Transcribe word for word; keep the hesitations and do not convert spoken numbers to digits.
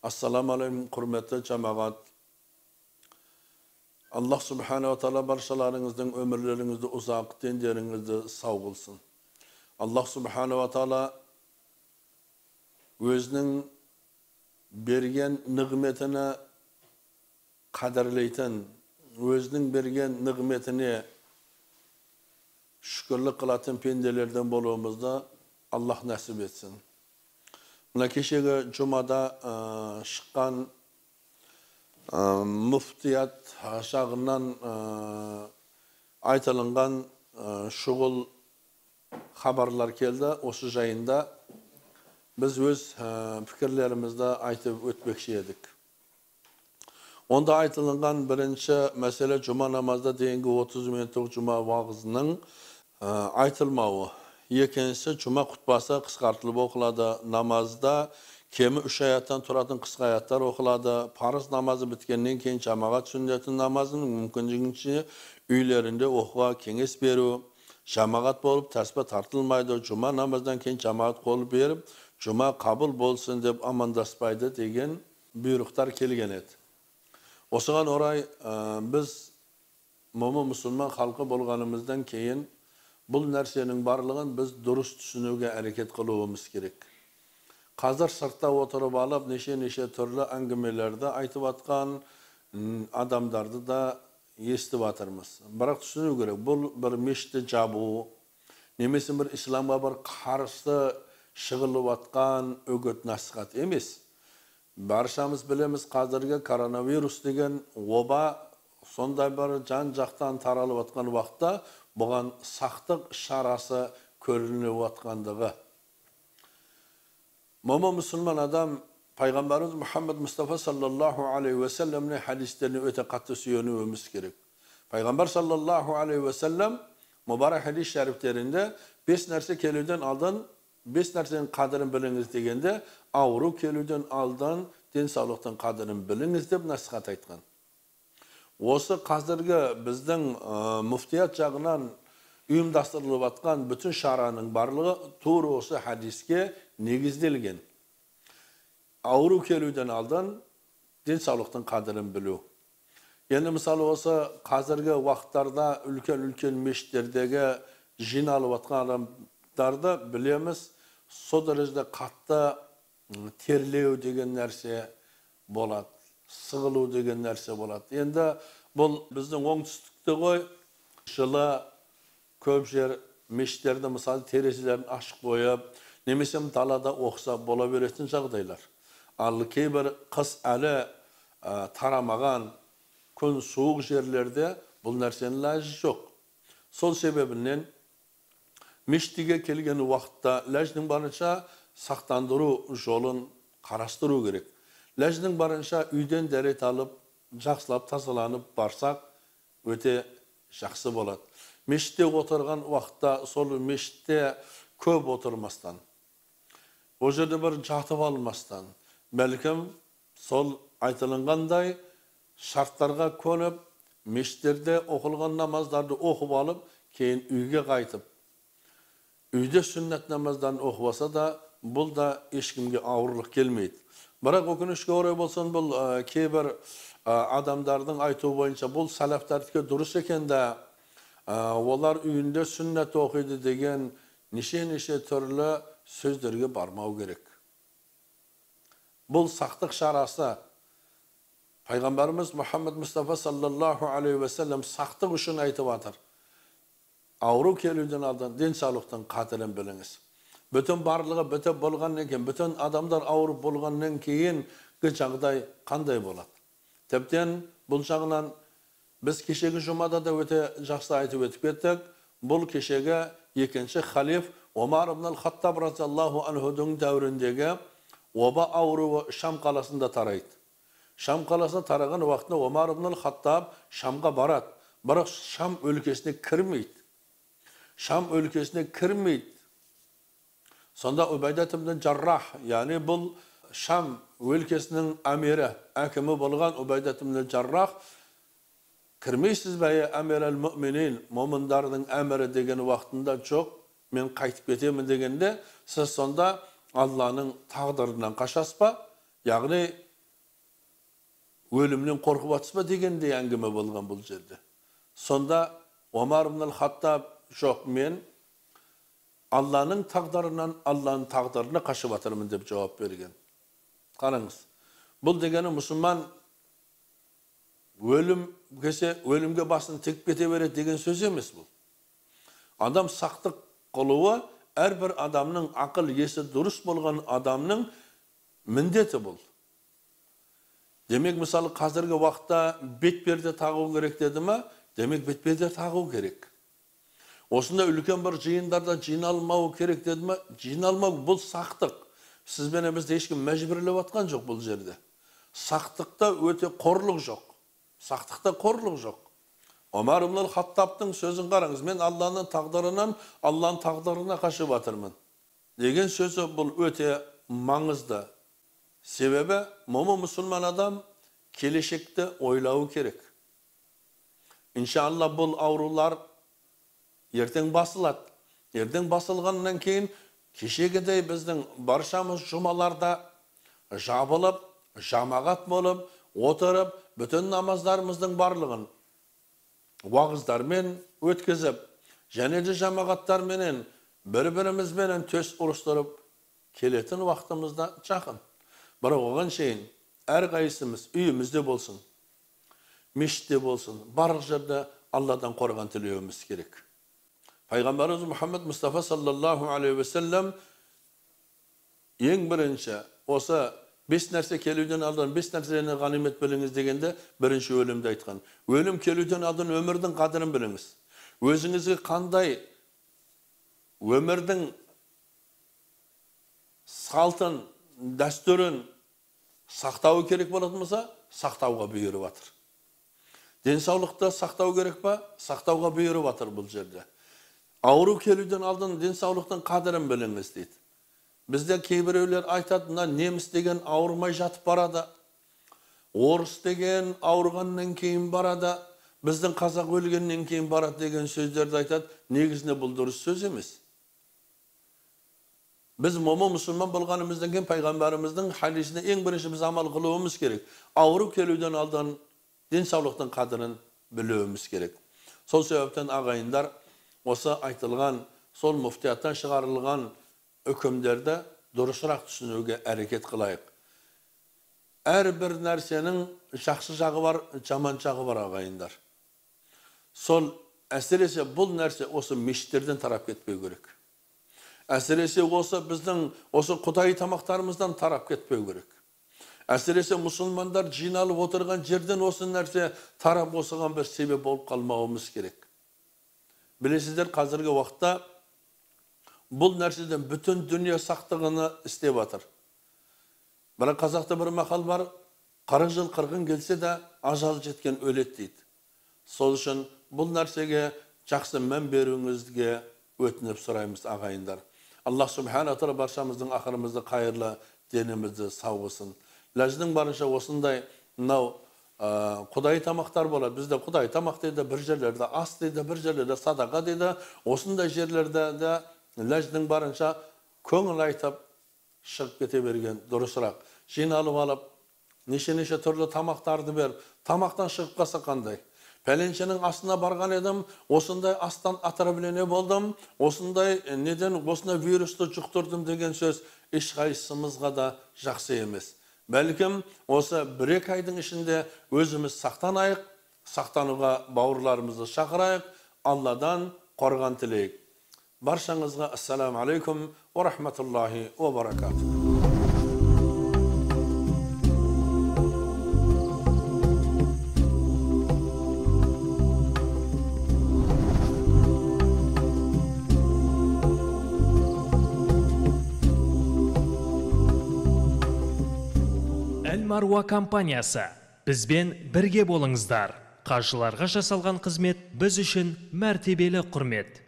Assalamu alaikum, hurmatli cemaat. Allah subhanahu wa ta'ala barşalarinizden ömürlerinizde uzak, dinlerinizde sağ bulsun. Allah subhanahu wa ta'ala özünün bergen nimetine kaderleyten, özünün bergen nimetine şükürlük kılatın pendelerden bolumuzda Allah nasip etsin. Mına keşege Cuma'da şıkkan muftiyat aşağından aytılıngan şugul haberler keldi. Osu jayında biz öz fikirlerimizde aytıp ötmekçi edik. Onda aytılıngan birinci mesele Cuma namazda deyingi otuz minutlik Cuma vaazının aytılmağı. Yekenisi Cuma kutbası kıskartılıp okuladı. Namazda kemi üç ayattan turатын kısa ayatlar okuladı. Farz namazı bitkenden keyin cemaat sünnetin namazının mümkünlüğünce üylerinde okuğa kenges beru. Cemaat bolup tasbih tartılmaydı. Cuma namazdan keyin cemaat kolup berip Cuma kabul bolsun dep amandaspaydı degen buyruqlar kelgen edi. Osugan oray biz momo musulman halkı bolganımızdan keyin bu narsenin barlığın biz durus düşünüge hareket kılmamız gerek. Hazır sırtta oturup alıp neşe neşe türlü angimelerde aytıp atkan adamlardı da esti batırmız. Bırak düşünü gerek. Bu bir meşte jabu, nemesi bir İslam'a bir karşı şıgılıp atkan ögöt nasihat emes. Barşamız bilemiz hazırki koronavirus degen oba sonday bir can jaktan taralıp atkan vaqtda bugan saqtıq şarası körülünüp atkandığı. Momo Müslüman adam Peygamberimiz Muhammed Mustafa sallallahu aleyhi ve sellem'in hadislerini öte katı süyönüvemiz gerek. Peygamber sallallahu aleyhi ve sellem mübarek hadis şeriflerinde beş narsa kelüden aldın, beş narsanın kadrini biliniz degende avru kelüden aldın, din sağlıktan kadrini biliniz dep nasihat aytkan. Осы қазіргі біздің мүфтият жағынан ұйымдастырылып атқан bütün шараның барлығы тура осы хадиске негізделген. Ауру келуден алдан денсаулықтың қадірін білу. Енді мысалы осы қазіргі уақыттарда үлкен-үлкен мешіттердегі жиналып атқан адамдарды білеміз, со дәрежеде қатты терлеу деген нәрсе болады. Сығылу деген нәрсе болады. Енді бұл біздің оңтүстікте ғой, жылы көп жер мешіттерді мысалы терезелерін ашық қойып, немесе далада оқса бола беретін жағдайлар. Ал кейбір қыс әлі тарамаған күн суық жерлерде бұл нәрсенің ләжі жоқ. Сол себебінен мешітке келген уақытта ләждің барынша сақтандыру жолын қарастыру керек. Ләждің барынша үйден дәрет алып, жақсылап тазаланып барсақ, өте жақсы болады. Мешітте отырған уақытта, сол мешітте көп отырмастан, о жерде бір жатып алмастан, бәлкім сол айтылынғандай шарттарға көніп, мешіттерде оқылған намаздарды оқып алып, кейін үйге қайтып, үйде сүннет намаздан оқыбаса да, бұл да ешкімге ауырлық келмейді. Бірақ өкінішке орай болсын, бұл кейбір адамдардың айтуы бойынша бұл салафтардікі дұрыс екен де, олар үйінде сүннет оқиды деген неше-неше түрлі сөздерге бармау керек. Бұл сақтық шарасы. Пайғамбарымыз Мұхаммед Мұстафа саллаллаху алейхи ве sellem сақтық үшін айтып атыр. Ауру келуден алдан денсаулықтың қадірін біліңіз. Bütün barlığı bütün bolğandan keyin, bütün adamlar ауырып bolğandan keyin жағдай қандай болады? Тіптен бұл жағынан biz kешегі жұмада да өте жақсы айтып өтіп кеттік. Бұл кешегі екінші халиф Омар ибн ал-Хаттаб разияллаху анхудың дәуіріндегі оба ауруы Шам қаласында тарайды. Шам қаласына тараған уақытында Омар ибн ал-Хаттаб Шамға барады. Бірақ Шам өлкесіне кірмейді. Шам өлкесіне кірмейді. Сонда Убайдат ибн Жаррах, яғни бұл Шам өлкесінің әмері, әкімі болған Убайдат ибн Жаррах, кірмейсіз бәйі әмір әл-мүминин, момындардың әмірі деген уақытында жоқ, мен қайтып кетемін дегенде, сіз сонда Алланың тағдырынан қашасыз ба? Яғни өлімнен қорқып атыспа дегенде әңгіме болған бұл жерде. Сонда Омар ибн ал-Хаттаб жоқ, мен Алланың тағдырынан Алланың тағдырына қашып атырмын деп жауап берген. Қараңыз, бұл дегені мұсылман өлім кесе өлімге басын тек кете береді деген сөз емес бұл. Адам сақтық қылуы әрбір адамның ақыл есі дұрыс болған адамның міндеті бұл. Демек, мысалы, қазіргі уақытта бетперде тағу керек деді ма? Демек, бетперде тағу керек. Осында үлкен бір жиындарда жиналмау керек деді ма? Жиналмау, бұл сақтық. Сізбен бізде ешкім мәжбүрлеп атқан жоқ бұл жерде. Сақтықта өте қорлық жоқ. Сақтықта қорлық жоқ. Омар ибн ал-Хаттабтың сөзін қараңыз. Мен Алланың тағдырынан Алланың тағдырына қашып атырмын деген сөзі бұл өте маңызды. Себебі, мұмы мұсылман адам келешекті ойлауы керек. Иншалла, бұл аурулар ертең басылады. Ертең басылғаннан кейін кешегідей біздің баршамыз жұмаларда жабылып, жамағат болып, отырып, бүтін намаздарымыздың барлығын уағыздармен өткізіп, және де жамағаттарменен бір-бірімізбенен төс ұрыстырып келетін уақытымызда жақын. Бірақ оған шейін әрқайсымыз үйімізде болсын, мешітте болсын, барлық жерде Алладан қорған тілеуіміз керек. Пайғамбарымыз Мұхаммед Мұстафа саллаллаху алейхи ва саллям ең бірінші осы бес нәрсе келуден алдын бес нәрсені ғанимет біліңіз дегенде бірінші өлімді айтқан. Өлім келуден алдын өмірдің қадірін біліңіз. Өзіңізге қандай өмірдің салтын, дәстүрін сақтау керек болатын болса, сақтауға бұйырып жатыр. Денсаулықты сақтау керек па? Сақтауға бұйырып жатыр бұл жерде. Ауру келуден алдын денсаулықтың қадірін біліңіз дейді. Бізде кейбіреулер айтады, неміс деген ауырмай жатып барады. Орыс деген ауырғаннан кейін барады. Біздің қазақ өлгеннен кейін барады деген сөздерді айтады. Негізінде бұл дұрыс сөз емес. Біз момы мұсылман болғанымыздан кейін пайғамбарымыздың хадисіне ең бірінші біз амал қылуымыз керек. Ауру келуден алдын денсаулықтың қадірін білуіміз керек. Сол себептен ағайындар осы айтылған, сол муфтияттан шығарылған үкімдерді дұрысырақ түсінуге әрекет қылайық. Әрбір нәрсенің жақсы жағы бар, жаман жағы бар ағайындар. Сол әсіресе бұл нәрсе осы мешіттерден тарап кетпеу керек. Әсіресе осы біздің осы құдай тамақтарымыздан тарап кетпеу керек. Әсіресе мұсылмандар жиналып отырған жерден осы нәрсе тарап осыған бір себеп болып қалмауымыз керек. Білесіздер, қазіргі уақытта бұл нәрседен бүтін дүние сақтығыны істеп жатыр. Бірақ қазақта бір мақал бар, қырық жыл қырғын келсе де ажал жеткен өледі дейді. Сол үшін бұл нәрсеге жақсы мән беруіңізге өтініп сұраймыз ағайындар. Аллах субхана тағала баршамыздың ақырымызды қайырлы, денімізді сауғысын. Ләждің барынша осындай мынау құдай тамақтар болады. Бізде құдай тамақ дейді, бір жерлерде ас дейді, бір жерлерде садақа дейді. Осындай жерлерде де ләждің барынша көңіл айтып шығып кете берген дұрысырақ. Жиналып алып, неше-неше түрлі тамақтарды беріп, тамақтан шығып қалса қандай? Пәленшенің астына барған едім, осындай астан атырабілене болдым, осындай неден осындай вирусты жұқтырдым деген сөз ешқайсымызға да жақсы емес. Бәлкім осы бір-екі айдың ішінде өзіміз сақтанайық, сақтануға бауырларымызды шақырайық, Алладан қорған тілейік. Баршаңызға ассаламу алейкум ва рахматуллахи ва баракатух. Маруа компаниясы. Бізбен бірге болыңыздар. Қажыларға жасалған қызмет біз үшін мәртебелі құрмет.